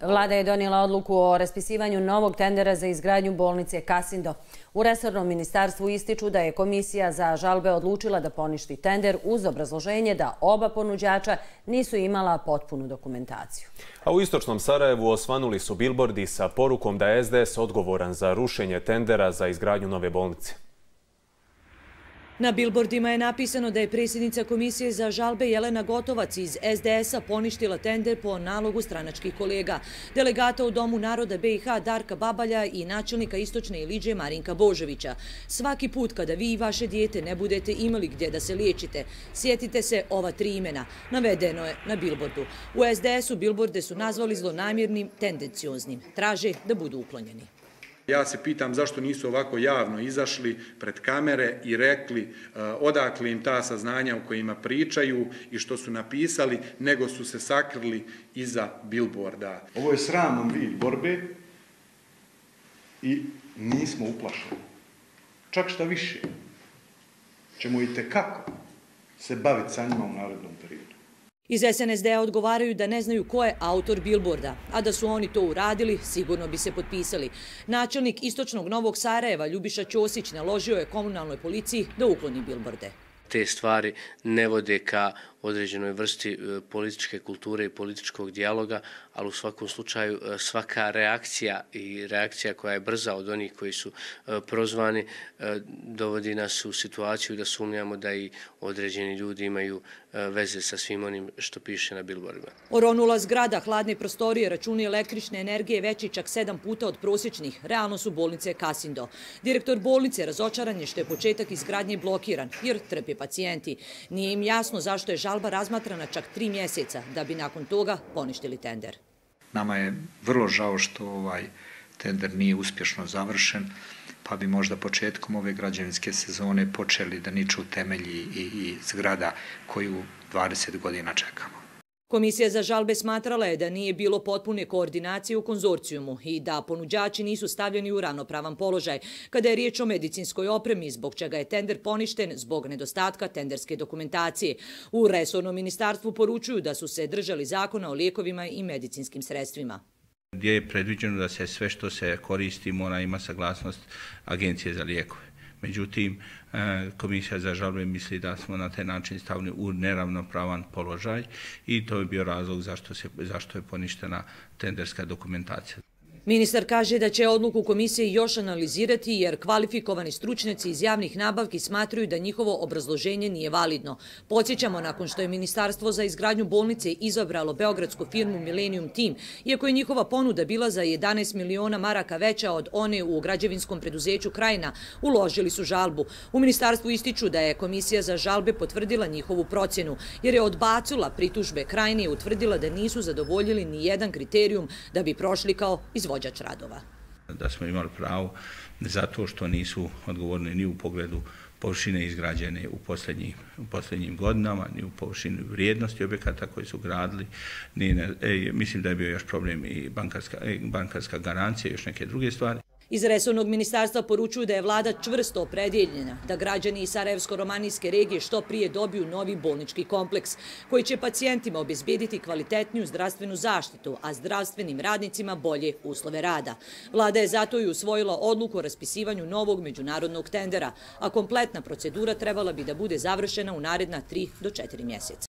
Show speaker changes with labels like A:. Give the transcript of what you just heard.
A: Vlada je donijela odluku o raspisivanju novog tendera za izgradnju bolnice Kasindo. U resornom ministarstvu ističu da je Komisija za žalbe odlučila da poništi tender uz obrazloženje da oba ponuđača nisu imala potpunu dokumentaciju.
B: A u istočnom Sarajevu osvanuli su bilbordi sa porukom da je SDS odgovoran za rušenje tendera za izgradnju nove bolnice.
C: Na bilbordima je napisano da je predsjednica Komisije za žalbe Jelena Gotovac iz SDS-a poništila tender po nalogu stranačkih kolega, delegata u Domu naroda BiH Darka Babalja i načelnika Istočne Iliđe Marinka Božovića. Svaki put kada vi i vaše dijete ne budete imali gdje da se liječite, sjetite se ova 3 imena. Navedeno je na bilbordu. U SDS-u bilborde su nazvali zlonamjernim, tendencioznim. Traže da budu uklonjeni.
D: Ja se pitam zašto nisu ovako javno izašli pred kamere i rekli odakle im ta saznanja o kojima pričaju i što su napisali, nego su se sakrili iza bilborda.
E: Ovo je sraman vid borbe i nismo uplašeni. Čak šta više, ćemo itekako se baviti sa njima u narednom periodu.
C: Iz SNSD-a odgovaraju da ne znaju ko je autor bilborda, a da su oni to uradili, sigurno bi se potpisali. Načelnik Istočnog Novog Sarajeva Ljubiša Ćosić naložio je komunalnoj policiji da ukloni bilborde.
F: Te stvari ne vode ka određenoj vrsti političke kulture i političkog dijaloga, ali u svakom slučaju svaka reakcija i reakcija koja je brza od onih koji su prozvani dovodi nas u situaciju da sumnjamo da i određeni ljudi imaju veze sa svim onim što piše na bilbordima.
C: Oronula zgrada, hladne prostorije, računi električne energije veći čak 7 puta od prosječnih. Realno su bolnice Kasindo. Direktor bolnice razočaran je što je početak izgradnje blokiran, jer trpe pacijenti. Nije im jasno zašto je žalba razmatrana čak 3 mjeseca, da bi nakon toga poništili tender.
G: Nama je vrlo žao što ovaj tender nije uspješno završen, pa bi možda početkom ove građevinske sezone počeli da niču temelji i zgrada koju 20 godina čekamo.
C: Komisija za žalbe smatrala je da nije bilo potpune koordinacije u konzorcijumu i da ponuđači nisu stavljeni u ravnopravan položaj kada je riječ o medicinskoj opremi, zbog čega je tender poništen zbog nedostatka tenderske dokumentacije. U resornom ministarstvu poručuju da su se držali zakona o lijekovima i medicinskim sredstvima.
H: Gdje je predviđeno da se sve što se koristi mora ima saglasnost Agencije za lijekove. Međutim, Komisija za žalbe misli da smo na taj način stavili u neravnopravan položaj i to je bio razlog zašto je poništena tenderska dokumentacija.
C: Ministar kaže da će odluku komisije još analizirati jer kvalifikovani stručnjaci iz javnih nabavki smatruju da njihovo obrazloženje nije validno. Podsjećamo, nakon što je Ministarstvo za izgradnju bolnice izabralo beogradsku firmu Millennium Team, iako je njihova ponuda bila za 11 miliona maraka veća od one u građevinskom preduzeću Krajina, uložili su žalbu. U ministarstvu ističu da je Komisija za žalbe potvrdila njihovu procjenu, jer je odbacila pritužbe Krajine i utvrdila da nisu zadovoljili ni jedan kriterijum da bi prošli kao izvođač radova.
H: Da smo imali pravo zato što nisu odgovorni ni u pogledu površine izgrađene u posljednjim godinama, ni u površini vrijednosti objekata koji su gradili. Mislim da je bio još problem i bankarska garancija i još neke druge stvari.
C: Iz resornog ministarstva poručuju da je vlada čvrsto opredjeljena da građani iz Sarajevsko-romanijske regije što prije dobiju novi bolnički kompleks koji će pacijentima obezbediti kvalitetniju zdravstvenu zaštitu, a zdravstvenim radnicima bolje uslove rada. Vlada je zato i usvojila odluku o raspisivanju novog međunarodnog tendera, a kompletna procedura trebala bi da bude završena u naredna 3 do 4 mjeseca.